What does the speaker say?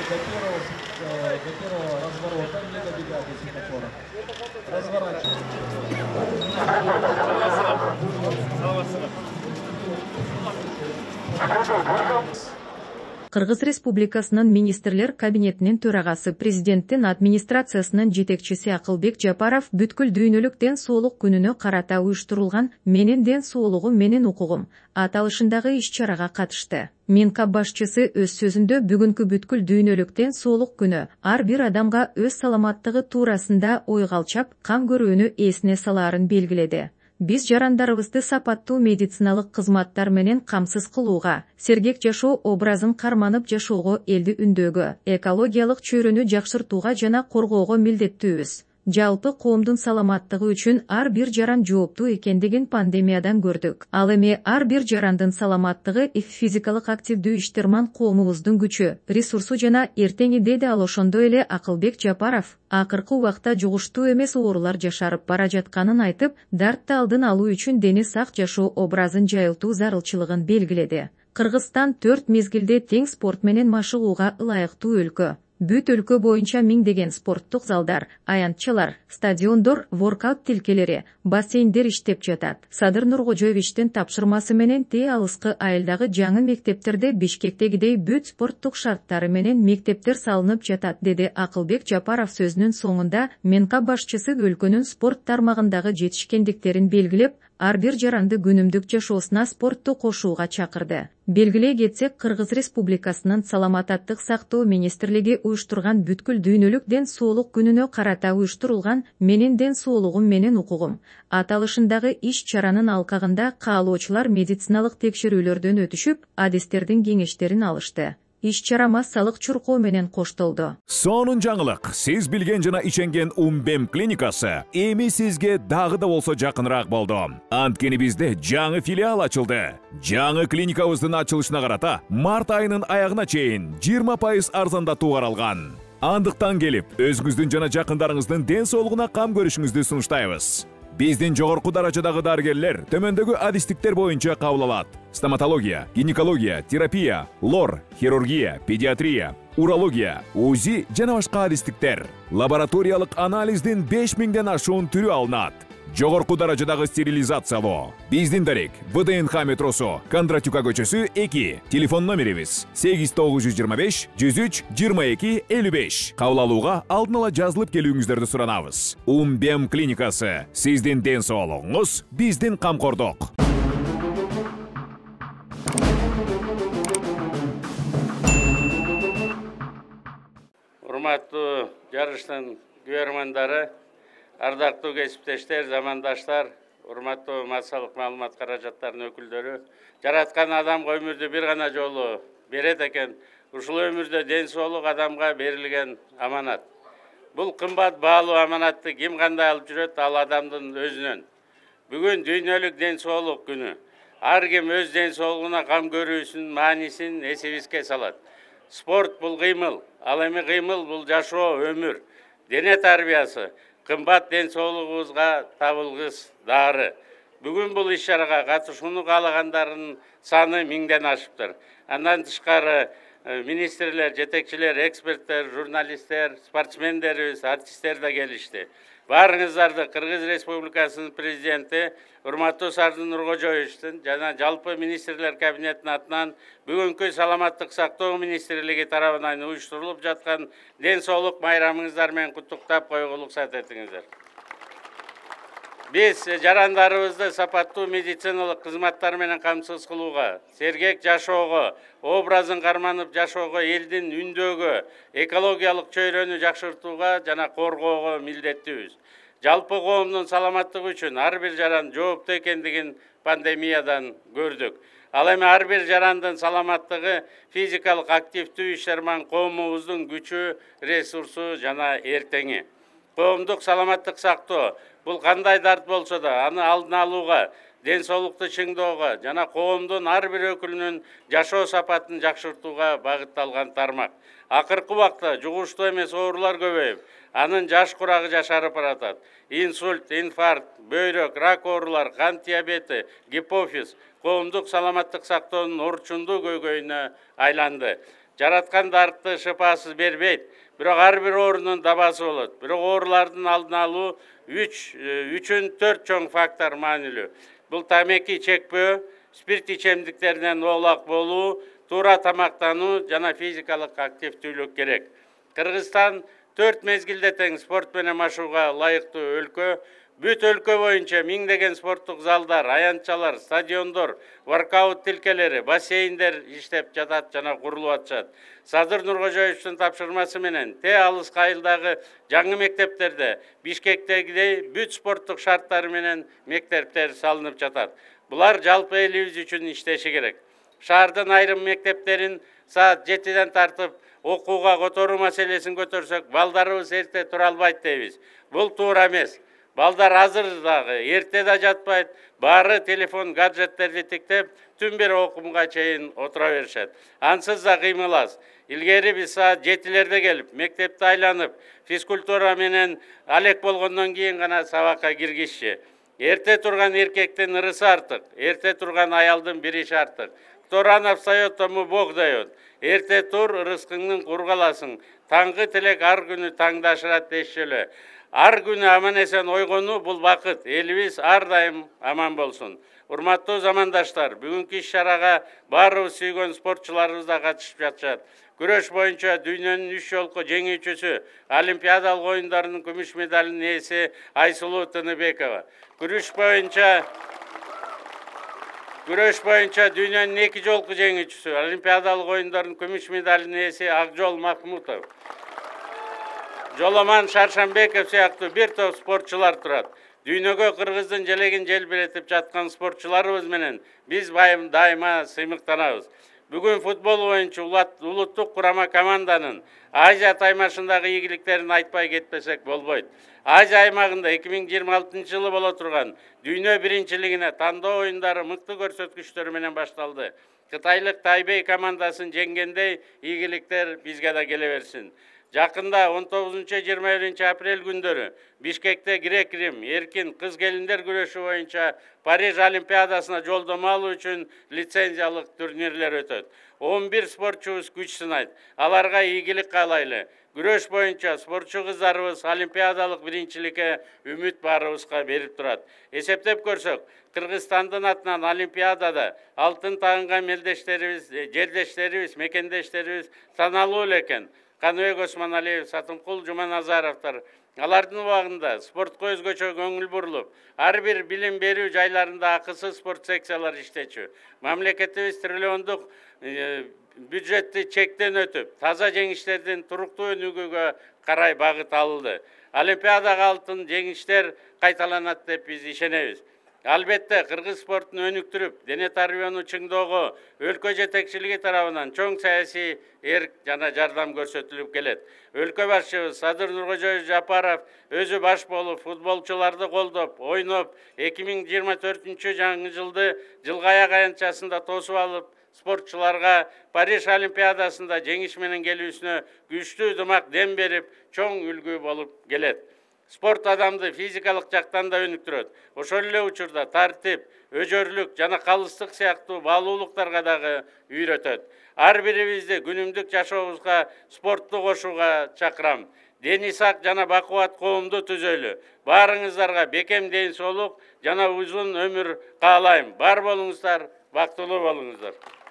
до первого разворота не добегать до светофора. Разворачиваем. Кыргыз Республикасынын министрлер кабинетинин төрагасы, президенттин администрациясынын жетекчиси Акылбек Жапаров бүткүл дүйнөлүк ден соолук күнүнө карата уюштурулган «Менин ден соолугум, менин укугум» аталышындагы иш-чарага катышты. Минкап башчысы өз сөзүндө бүгүнкү бүткүл дүйнөлүк ден соолук күнү ар бир адамга өз саламаттыгы туурасында ой калчап, кам көрүүнү эсине салаарын белгиледи. Биз жарандарыбызды сапаттуу медициналык кызматтар менен камсыз кылууга, сергек жашоо образын карманып жашоого, элди үндөөгө, экологиялык чөйрөнү жакшыртууга жана коргоого милдеттүүбүз. Жалпы коомдун саламаттыгы үчүн ар бир жаран жооптуу экендигин пандемиядан көрдүк. Ал эми ар бир жарандын саламаттыгы физикалык активдүү иштерман коомубуздун күчү, ресурсу жана эртеңи, деди. Ал ошондой эле Акылбек Жапаров акыркы убакта жугуштуу эмес оорулар жашарып бара жатканын айтып, дартты алдын алуу үчүн дени сак жашоо образын жайылтуу зарылчылыгын белгиледи. Кыргызстан 4 мезгилде тең спорт менен машыгууга ылайыктуу өлкө. Бүт өлкө боюнча миңдеген спорттук залдар, аянтчалар, стадиондор, воркаут тилкелери, бассейндер иштеп жатат. Садыр Нуркожоевичтин тапшырмасы менен алыскы айылдагы жаңы мектептерде Бишкектегидей бүт спорттук шарттары менен мектептер салынып жатат, деди Акылбек Жапаров сөзүнүн соңунда. Минкап башчысы өлкөнүн спорт тармагындагы жетишкендиктерин белгилеп, ар бир жаранды күнүмдүк жашоосуна спортту кошууга чакырды. Белгилей кетсек, Кыргыз Республикасынын Саламаттык сактоо министрлиги уюштурган бүткүл дүйнөлүк ден соолук күнүнө карата уюштурулган «Менин ден соолугум, менин укугум» аталышындагы иш-чаранын алкагында каалоочулар медициналык текшерүүлөрдөн өтүшүп, адистердин кеңештерин алышты. Иш-чара массалык чуркоо менен коштолду. Сонун жаңылык. Сиз билген жана иченген Умбем клиникасы эми сизге дагы да болсо жакыныраак болду. Анткени бизде жаңы филиал ачылды. Жаңы клиникабыздын ачылышына карата март айынын аягына чейин 20% арзандатуу каралган. Андыктан келип, өзүңүздүн жана жакындарыңыздын ден соолугуна кам көрүшүңүздү сунуштайбыз. Биздин жогорку даражадагы дарыгерлер төмөндөгү адистиктер боюнча кабыл алат: стоматология, гинекология, терапия, лор, хирургия, педиатрия, урология, УЗИ жана башка адистиктер. Лабораториялык анализдин 5000ден ашуун түрү алынат. Жогорку даражадагы стерилизациялоо. Биздин дарек ВДНХ метросу, Кондратюка көчөсү 2. Телефон номерибиз 8925 103 22 55. Кабыл алууга алдын ала жазылып келүүңүздөрдү суранабыз. Умбем клиникасы. Сиздин ден соолугуңуз, биздин камкордук. Урматтуу жарыштын көрөрмандары, ардактуу кесиптештер, замандаштар, урматтуу массалык маалымат каражаттарынын өкүлдөрү, жараткан адамга өмүрдү бир гана жолу берет экен. Ушул өмүрдө ден соолук адамга берилген аманат. Бул кымбат баалуу аманатты ким кандай алып жүрөт, ал адамдын өзүнөн. Бүгүн дүйнөлүк ден соолук күнү. Ар ким өз ден соолугуна кам көрүүсүнүн маанисин эсибизге салат. Спорт бул кыймыл, ал эми кыймыл бул жашоо, өмүр, дене тарбиясы. Кымбат ден соолугубузга табылгыс дары. Бүгүн бул иш-чарага катышууну каалагандардын саны 1000ден ашыптыр. Андан тышкары министрлер, жетекчилер, эксперттер, журналисттер, спортсмендерибиз, артисттер да келишти. Баарыңыздарды Кыргыз Республикасынын президенти урматтуу Садыр Нуркожоевичтин жана жалпы министрлер кабинетинин атынан бүгүнкү Саламаттык сактоо министрлиги тарабынан уюштурулуп жаткан ден соолук майрамыңыздар менен куттуктап коюуга уруксат этиңиздер. Биз жарандарыбызды сапаттуу медициналык кызматтар менен камсыз кылууга, сергек жашоого, образын карманып жашоого, элдин үндөөгө, экологиялык чөйрөнү жакшыртууга жана коргоого милдеттүүбүз. Жалпы коомдун саламаттыгы үчүн ар бир жаран жооптуу экендигин пандемиядан көрдүк. Ал эми ар бир жарандын саламаттыгы физикалык активдүү иштерман коомубуздун күчү, ресурсу жана эртеңи. Коомдук саламаттык сактоо бул кандай дарт болсо да аны алдын алууга, ден соолукту чыңдоого жана коомдун ар бир өкүлүнүн жашоо сапатын жакшыртууга багытталган тармак. Акыркы убакта жугуштуу эмес оорулар көбөйүп, анын жаш курагы жашарып баратат. Инсульт, инфаркт, бөйрөк, рак оорулар, кант диабети, гипофиз коомдук саламаттык сактоонун орчундуу көйгөйүнө айланды. жараткан дарыкты шыпасыз бербейт, бирок ар бир оорунун дабасы болот. Бирок оорулардын алдын алуу үчүн 4 чоң фактор маанилүү. Бул тамеки чекпөө, спирт ичемдиктеринен оолак болуу, туура тамактануу жана физикалык активдүүлүк керек. Кыргызстан 4 мезгилде тең спорт менен машууга ылайыктуу өлкө. Бүт өлкө боюнча миңдеген спорттук залдар, аянтчалар, стадиондор, воркаут тилкелери, бассейндер иштеп жатат жана курулуп атышат. Садыр Нуркожоевичтин тапшырмасы менен алыс кайылдагы жаңы мектептерде Бишкектегидей бүт спорттук шарттары менен мектептер салынып жатат. Булар жалпы элибиз үчүн иштеши керек. Шаардын айрым мектептерин саат 7ден тартып окууга которуу маселесин көтөрсөк, балдарыбыз эрте тура албайт дейбиз. Бул туура эмес. Балдар азыр дагы, эрте да жатпайт, баары телефон, гаджеттерди тиктеп, түн бери окумга чейин отура беришет. Ансыз да кыймыл аз. Илгери биз саат 7лерде келип, мектепти айланып, физкультура менен алек болгондон кийин гана сабакка киргизчи. Эрте турган эркектин ырысы артык, эрте турган аялдын бир иши артык. Кто рано встает, тому Бог дает. Эрте тур, рызкыңдын кургаласың. Таңгы тилек ар күнү таңдашырат дешчү эле. Ар күнү аман эсен ойгонуу бул бакыт. Элибиз ар дайым аман болсун. Урматтуу замандаштар, бүгүнкү иш-чарага баарыбыз сүйгөн спортчуларыбыз да катышып жатышат. Күрөш боюнча дүйнөнүн 3 жолку жеңүүчүсү, Олимпиадалык оюндарынын күмүш медалынын ээси Айсулуу Тыныбекова. Күрөш боюнча дүйнөнүн 2 жолку жеңүүчүсү, Олимпиадалык оюндардын күмүш медалынын ээси Акжол Махмутов. Жоломан Шаршанбеков сыяктуу бир топ спортчулар турат. Дүйнөгө Кыргыздын желегин желбиретип жаткан спортчуларыбыз менен биз дайыма сыймыктанабыз. Бүгүн футбол боюнча улуттук курама команданын Азия таймашындагы ийгиликтерин айтпай кетпесек болбойт. Азия аймагында 2026-жылы боло турган дүйнө биринчилигине тандоо оюндары мыкты көрсөткүчтөр менен башталды. Кытайлык Тайбей командасын жеңгендей ийгиликтер бизге да келе берсин. Жакында 19-21 апрель күндөрү Бишкекте грек-рим эркин кыз келиндер күрөшү боюнча Париж Олимпиадасына жолдомо алуу үчүн лицензиялык турнирлер өтөт. 11 спортчубуз күч сынайт. Аларга ийгилик каалайлы. Күрөш боюнча спортчу кыздарыбыз олимпиадалык биринчиликке үмүт баарыбызга берип турат. Эсептеп көрсөк, Кыргызстандын атынан олимпиадада алтын тагынган жердештерибиз, мекендештерибиз саналуу эле экен. Каныбек Осмоналиев, Сатымкул Жуманазаровдор. Алардын убагында спортко өзгөчө көңүл бурулуп, ар бир билим берүү жайларында акысыз спорт секциялар иштечү. Мамлекетибиз триллиондук бюджетти чектен өтүп, таза жеңиштердин туруктуу өнүгүүгө карай багыт алынды. Олимпиадага алтын жеңиштер кайталанат деп биз ишенебиз. Албетте, кыргыз спортун өнүктүрүп, дене тарбияны чыңдоого өлкө жетекчилиги тарабынан чоң саясий эрк жана жардам көрсөтүлүп келет. Өлкө башчыбыз Садыр Нуркожоевич Жапаров өзү баш болуп, футболчуларды колдоп, ойноп, 2024 жаңы жылды жылгы аяк аянтчасында тосуп алып, спортчуларга Париж Олимпиадасында жеңиш менен келүүсүнө күчтүү дымак дем берип, чоң үлгү болуп келет. Спорт адамды физикалык жактан да өнүктүрөт. Ошол эле учурда тартип, өжөрлүк жана калыстык сыяктуу баалуулуктарга дагы үйрөтөт. Ар бирибизди күнүмдүк жашообузга спортту кошууга чакырам. Дени сак жана бакубат коомду түзөлү. Баарыңыздарга бекем ден соолук жана узун өмүр каалайм. Бар болуңуздар, бактылуу болуңуздар.